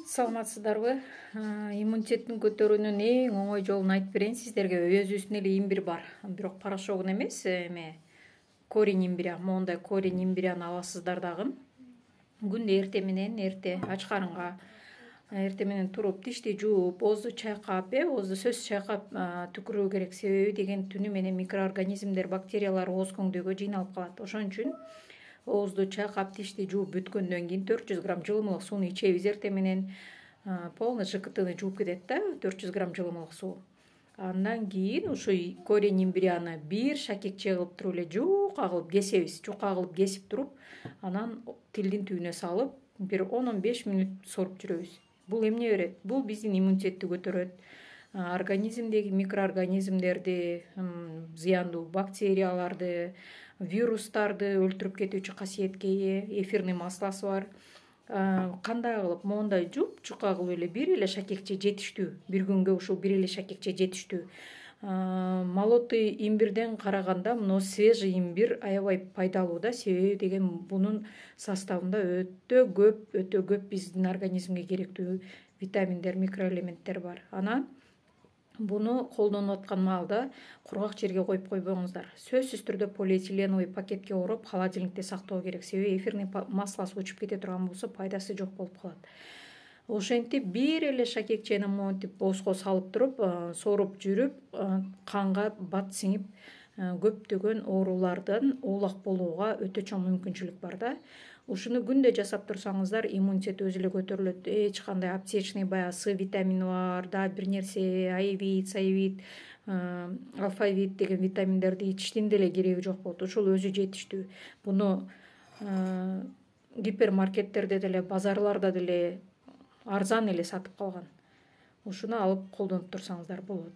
Саламатсыздарбы? Иммунитеттин көтөрүүнүн эң оңой жолун айтып берейин сиздерге. Өзүбүздүн эле имбир бар, бирок порошогун эмес, корень имбиря. Моундай корень имбиряны аласыздар дагы. Күндө эрте ач карынга эрте менен туруп тишти жууп, оозду чайкап, оозду сөзсүз чайкап түкүрүү керек. Себеби деген түнү менен микроорганизмдер, бактериялар ооз көңдөйгө жыйналып калат. Ошон үчүн оозду чайкап, тишти жууп бүткөндөн кийин 400 грамм жылымылык сууну ичебиз эрте менен. Полный ЖКТны жууп кетет да, 400 грамм жылымылык суу. Андан кийин ушу корень имбиряны бир шакекче кылып туруп эле жуука кылып кесебиз. Жука кылып кесип туруп, анан тилдин түбүнө салып, бир 10-15 мүнөт соруп жүрөбүз. Бул эмне берет? Бул биздин иммунитетти көтөрөт. Организмдеги микроорганизмдерди, зыяндуу бактерияларды, вирустарды өлтүрүп кетүүчү касиетке ээ. Эфирный маслосу бар. Кандай кылып моундай жууп, жука кылып эле бир эле шакекче жетиштүү. Бир күнгө ушул бир эле шакекче жетиштүү. Молотый имбирден караганда мына свежий имбир аябай пайдалуу да, себеби деген бунун составында өтө көп биздин организмге керектүү витаминдер, микроэлементтер бар. Анан буну колдонуп аткан маалда кургак жерге коюп койбоңуздар. Сөзсүз түрдө полиэтиленовый пакетке ороп холодильникте сактоо керек. Себеби эфирный маслосу учуп кете турган болсо пайдасы жок болуп калат. Ошентип бир эле шакекчени монтип оозго салып туруп, соруп жүрүп, канга бат сиңип, көптөгөн оорулардан оолак болууга өтө чоң мүмкүнчүлүк бар да. Ушуну күндө жасап турсаңыздар, иммунитет өзү эле көтөрүлөт. Эч кандай аптечный баягы С витамини бар, да бир нерсе, аевит, саевит, алфавит деген витаминдерди ичиштин деле кереги жок болот. Ушул өзү жетиштүү. Буну гипермаркеттерде деле, базарларда деле арзан эле сатып калган. Ушуну алып колдонуп турсаңыздар болот.